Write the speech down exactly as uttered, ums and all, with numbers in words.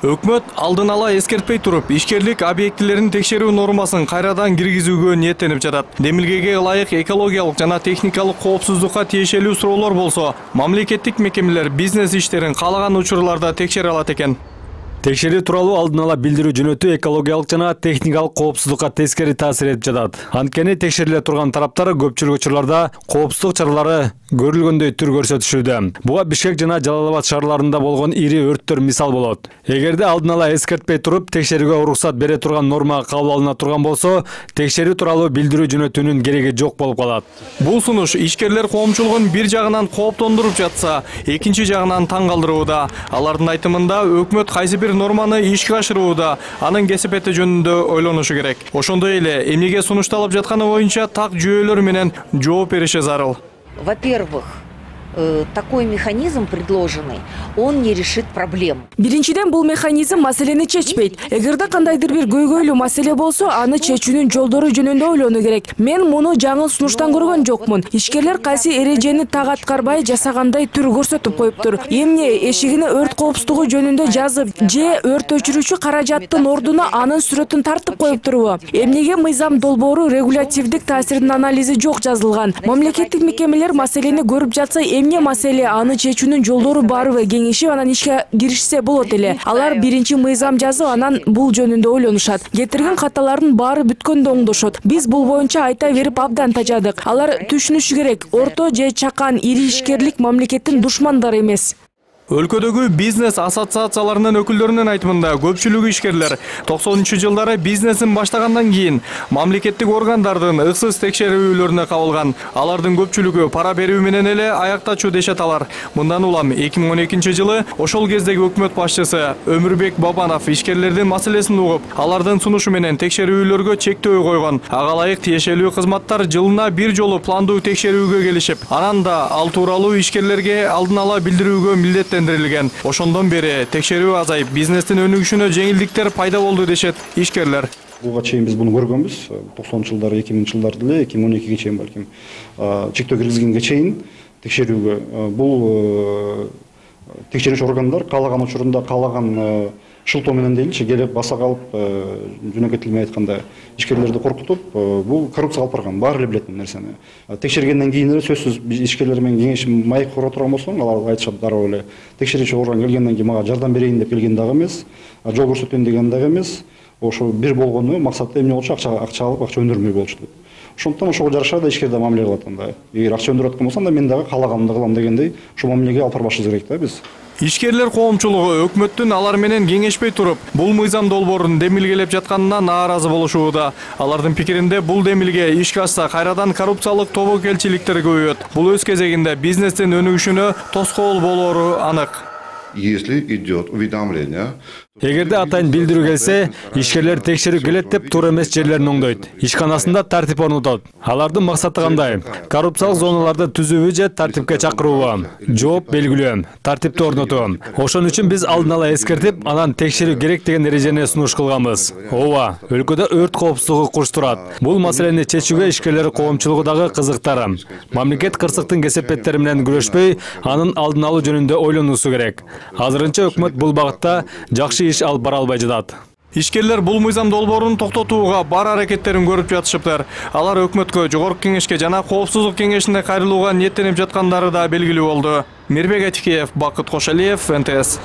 Өкмөт алдын ала эскертпей туруп, ишкерлик объектилерин текшерүү нормасын кайрадан киргизүүгө ниеттенип жатат. Демилгеге ылайык экологиялык жана техникалык коопсуздукка тиешелүү суроолор болсо, мамлекеттик мекемелер бизнес иштерин каалаган учурларда текшере алат экен. Текшерүү тууралуу алдын ала билдирүү жөнөтүү экологиялык жана техникалык коопсуздукка тескери таасир этип жатат. Анткени текшериле турган тараптар көпчүлүк учурларда коопсуздук чаралары көрүлгөндөй түр көрсөтүшүүдө. Буга Бишкек жана Жалал Абад шаарларында болгон ири өрттөр мисал болот. Эгерде алдын ала эскертпей туруп текшерүүгө уруксат бере турган норма кабыл алына турган болсо, текшерүү тууралуу билдирүү жөнөтүүнүн кереги жок болуп калат. Бул сунуш ишкерлер коомчулугун бир жагынан кооптондуруп жатса, экинчи жагынан таң калтырууда. Алардын айтымында өкмөт кайсы бир норманы ишке ашырууда, анын кесепети жөнүндө ойлонушу керек. Ошондой эле эмнеге сунушталып жатканы боюнча так жүйөлөр менен жооп бериши зарыл. Во-первых, такой механизм предложенный, он не решит проблем. Биринчиден, бул механизм маселени чечпейт. Эгерде кандайдыр бир көйгөйлүү маселе болсо, аны чечүүнүн жолдору жөнүндө ойлонуу керек. Мен муну жаңы сунуштан көргөн жокмун. Ишкерлер кайсы эрежени так аткарбай жасагандай түр көрсөтүп коюптур. Эмне эшигине өрт коопсуздугу жөнүндө жазып, же өрт өчүрүүчү каражаттын ордуна анын сүрөтүн тартып коюптурбу? Эмнеге мыйзам долбоору регулятивдик таасиринин анализи жок жазылган? Мамлекеттик мекемелер маселени көрүп жатса, эмне маселе, аны чечүүнүн жолдору барбы кеңешип, анан ишке киришсе болот эле. Алар биринчи мыйзам жазып, анан бул жөнүндө ойлонушат. Кетирген каталардын баары бүткөндө оңдошот. Биз бул боюнча айта берип абдан тажадык. Алар түшүнүшү керек, орто же чакан ири ишкерлик мамлекеттин душмандары эмес. Өлкөдөгү бизнес ассоциацияларынын өкүлдөрүнүн айтымында көпчүлүк ишкерлер токсонунчу жылдары бизнесин баштагандан кийин мамлекеттик органдардын ыксыз текшерүүлөрүнө кабылган. Алардын көпчүлүгү пара берүү менен эле аяктачу дешет алар. Мындан улам эки миң он экинчи жылы ошол кездеги өкмөт башчысы Өмүрбек Бабанов ишкерлердин маселесин угуп, алардын сунушу менен текшерүүлөргө чектөө койгон. Ага ылайык тиешелүү кызматтар жылына бир жолу пландуу текшерүүгө келишип, анан да ал тууралуу ишкерлерге алдын ала билдирүүгө милдеттен. Ошондон бери текшерүү азайып, бизнестин өнүгүшүнө жеңилдиктер пайда болду дешет ишкерлер. Буга чейин биз буну көргөнбүз. токсонунчу жылдары, эки миңинчи жылдарды эле, эки миң он экиге чейин балким чектөө киргизгенге чейин текшерүүгө бул текшерүүчү органдар каалаган учурунда каалаган шылтоо менен дейинчи келип баса калып, жөнөкөй тил менен айтканда ишкерлерди коркутуп, бул коррупцияга алып барган. Баары эле билет бул нерсени. Текшергенден кийин эле сөзсүз ишкерлер менен кеңешип майып кура турган болсоң, алар айтышат дароо эле. Текшерүүчү орган келгенден кийин мага жардам берейин деп келген дагы эмес, жол көрсөтөйүн деген дагы эмес. Ошо бир болгону максаты эмне болчу, акча акча алып, акча өндүрмөй болчу деп. Ошондон ошого жараша да ишкер да мамиле кылат анда. Эгер акча өндүрүп аткан болсоң да мен дагы каалаганымды кылам дегендей, ошо мамилеге алып барбашыбыз керек да биз. Ишкерлер коомчулугу өкмөттүн алар менен кеңешпей туруп, бул мыйзам долбоорун демилгелеп жатканына нааразы болушууда. Алардын пикиринде бул демилге ишке ашса кайрадан коррупциялык тобокелчиликтер көбөйөт. Бул өз кезегинде бизнестин өнүгүшүнө тоскоол болору анык. Если идет уведомление, эгерде атайын билдирүү келсе, ишкерлер текшерүү келет деп туура эмес жерлерин оңдойт. Ишканасында тартип орнотот. Алардын максаты кандай? Коррупциялык зоналарды түзүүбү же тартипке чакыруубу? Жооп белгилөө, тартипти орнотуу. Ошон үчүн биз алдын ала эскертип, анан текшерүү керек деген эрежени сунуш кылганбыз. Ооба, өлкөдө өрт коопсуздугу курчтурат. Бул маселени чечүүгө ишкерлер коомчулугу дагы кызыктар. Мамлекет кырсыктын кесепеттери менен күрөшпөй, анын алдын алуу жөнүндө ойлонуусу керек. Азырынча өкмөт бул багытта жакшы иш алып бара албай жатат. Ишкерлер бул мыйзам долбоорун токтотууга бар аракеттерин көрүп жатышыптыр. Алар өкмөткө, Жогорку Кеңешке жана Коопсуздук Кеңешине кайрылууга ниеттенип жаткандары да белгилүү болду. Мирбек Атикеев, Бакыт Кошалиев, эн тэ эс.